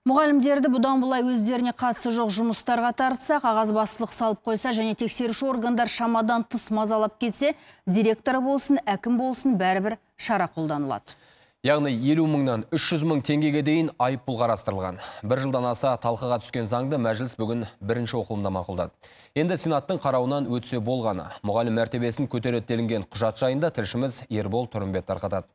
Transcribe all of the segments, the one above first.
Мұғалімдерді бұдан бұлай өздеріне қатысы жоқ жұмыстарға тартса, қағазбастылық салып қойса және тексеруші органдар шамадан тыс мазалап кетсе, директоры болсын, әкім болсын, бәрібір шара қолданылады. Яғни 50 мыңнан 300 мың теңгеге дейін айыппұл қарастырылған. Бір жылдан аса талқыға түскен заңды мәжіліс бүгін бірінші оқылымда мақұлдады. Енді Сенаттың қарауынан өтсе болғаны. Мұғалім мәртебесін көтереді делінген құжат жайында тілшіміз Ербол Тұрымбет тарқатады.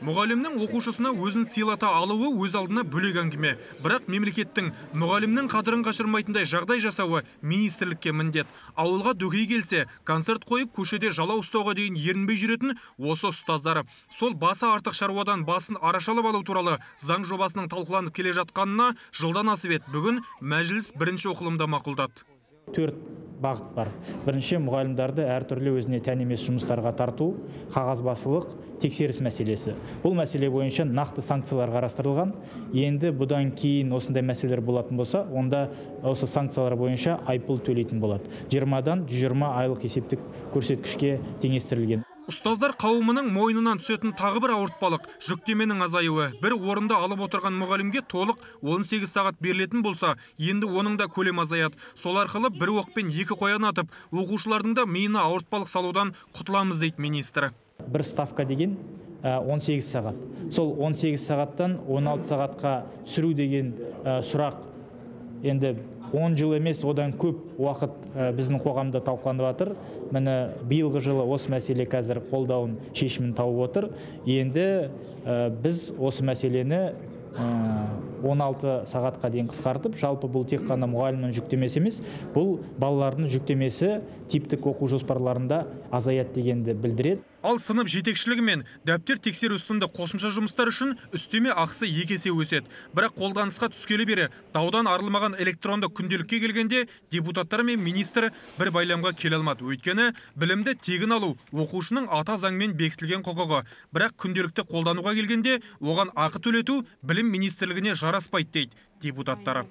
Мұғалімнің оқушысына өзін сыйлата алуы өз алдына бөлек әңгіме. Бірақ мемлекеттің мұғалімнің қадірін қашырмайтындай жағдай жасауы министрлікке міндет. Ауылға дөкей келсе, концерт қойып, көшеде жалау ұстауға дейін ерінбей жүретін осы ұстаздары. Сол басы артық шаруадан басын арашалап алу туралы заң жобасының талқыланып келе жатқанына жылдан асып еді. Бүгін мәжіліс бірінші оқылымда мақұлдады. 4 бағыт бар. Бірінші, мұғалімдерді әртүрлі өзіне тән емес жұмыстарға тарту, қағазбастылық, тексеріс мәселесі. Бұл мәселе бойынша нақты санкциялар қарастырылған. Енді бұдан кейін осындай мәселелер болатын болса, онда осы санкциялар бойынша айыппұл төлейтін болады. 20-дан 120 айлық есептік көрсеткішке теңестірілген. Ұстаздар қауымының мойнынан түсетін тағы бір ауыртпалық жүктеменің азаюы. Бір орында алып отырған мұғалімге толық 18 сағат берілетін болса, енді оның да көлем азаяды. Сол арқылы бір оқпен екі қоян атып, оқушылардың да миына ауыртпалық салудан құтыламыз дейді министр. Бір ставка деген 18 сағат. Сол 18 сағаттан 16 сағатқа түсіру деген сұрақ енді 10 жыл емес, одан көп уақыт біздің қоғамда талқыланып жатыр. Міне биылғы жылы осы мәселе қазір қолдауын шешімін тауып отыр. Енді біз осы мәселені 16 сағатқа дейін қысқартып, жалпы бұл тек қана мұғалімнің жүктемесі емес, бұл балалардың жүктемесі типтік оқу жоспарларында азаяды дегенді білдіреді. Ал сынып жетекшілігі мен дәптер тексеру сынды қосымша жұмыстар үшін үстеме ақысы 2 есе өседі. Бірақ қолданысқа түскелі бері даудан арылмаған электронды күнделікке келгенде депутаттар мен министр бір байламға келе алмады. Өйткені білімді тегін алу оқушының ата заңмен бекітілген құқығы. Бірақ күнделікті қолдануға келгенде оған ақы төлету білім министрлігіне жараспайды дейді депутаттары.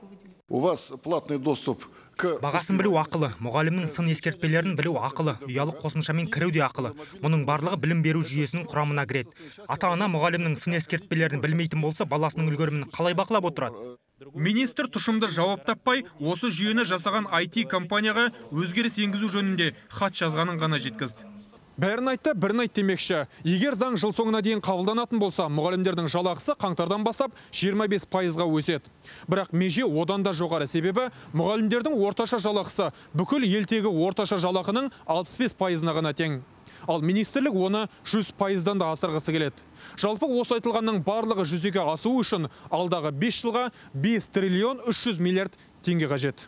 У вас платный доступ к... Бағасын білу ақылы, мұғалімнің сын ескертпелерін білу ақылы, ұялы қосымшамен кіру де ақылы. Мұның барлығы білім беру жүйесінің құрамына кіреді. Ата-ана мұғалімнің сын ескертпелерін білмейтін болса, баласының үлгерімін қалай бақылап отырады? Министр тұшымды жауап таппай, осы жүйені жасаған IT компанияға өзгеріс енгізу жөнінде хат жазғанын ғана жеткізді. Бәрін айтты, бірін айт демекші. Егер заң жыл соңына дейін қабылданатын болса, мұғалімдердің жалақысы қаңтардан бастап 25%-ға өседі. Бірақ меже одан да жоғары, себебі мұғалімдердің орташа жалақысы бүкіл елдегі орташа жалақының 65%-на ғана тең. Ал министрлік оны 100%-дан да асырғысы келеді. Жалпы осы айтылғанның барлығы жүзеге асуы үшін алдағы 5 жылға 5 триллион 300 миллиард теңге қажет.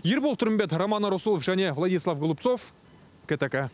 Ербол Тұрымбет, Роман Расулов және Владислав Голубцов, КТК.